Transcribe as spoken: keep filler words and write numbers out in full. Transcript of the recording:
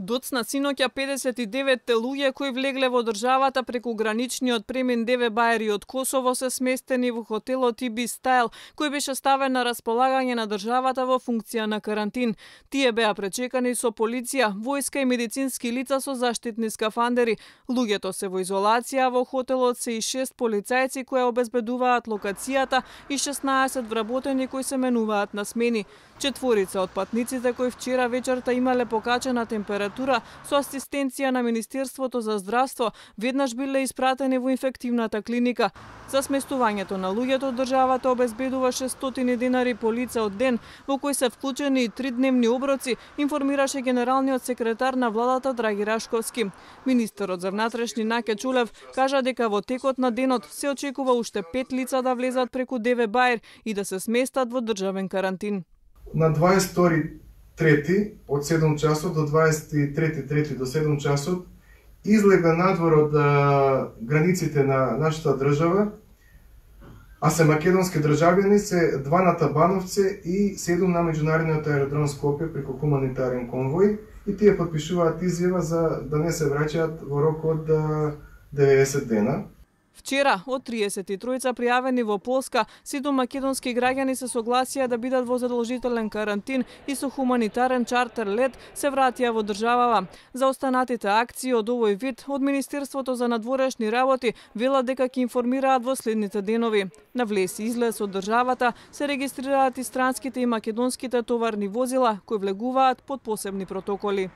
Доцна синоќа педесет и девет луѓе кои влегле во државата преку граничниот премин Деве Баери од Косово се сместени во хотелот Ибис Стайл, кој беше ставен на располагање на државата во функција на карантин. Тие беа пречекани со полиција, војска и медицински лица со заштитни скафандери. Луѓето се во изолација, во хотелот се и шест полицајци кои обезбедуваат локацијата и шеснаесет вработени кои се менуваат на смени. Четворица од патниците кои вчера вечерта имале покачена температура со асистенција на Министерството за здравство веднаш биле испратени во инфективната клиника. За сместувањето на луѓето државата обезбедува шестстотини денари по лице од ден, во кои се вклучени и тридневни оброци, информираше генералниот секретар на владата Драги Рашковски. Министерот за внатрешни Наке Чулев кажа дека во текот на денот се очекува уште пет лица да влезат преку Деве Баер и да се сместат во државен карантин. На дваесет и втори трети од седум часот до дваесет и трети трети до седум часот излега надвор од а, границите на нашата држава, а се македонски државјани се два на Табановце и седум на меѓународниот аеродром Скопје преку хуманитарен конвој, и тие подпишуваат изјава за да не се враќаат во рок од деветдесет дена. Вчера, од триесет и тројца пријавени во Полска, седум македонски граѓани се согласија да бидат во задолжителен карантин и со хуманитарен чартер лет се вратија во државава. За останатите акции од овој вид, од Министерството за надворешни работи велат дека ќе информираат во следните денови. На влез и излез од државата се регистрираат и странските и македонските товарни возила кои влегуваат под посебни протоколи.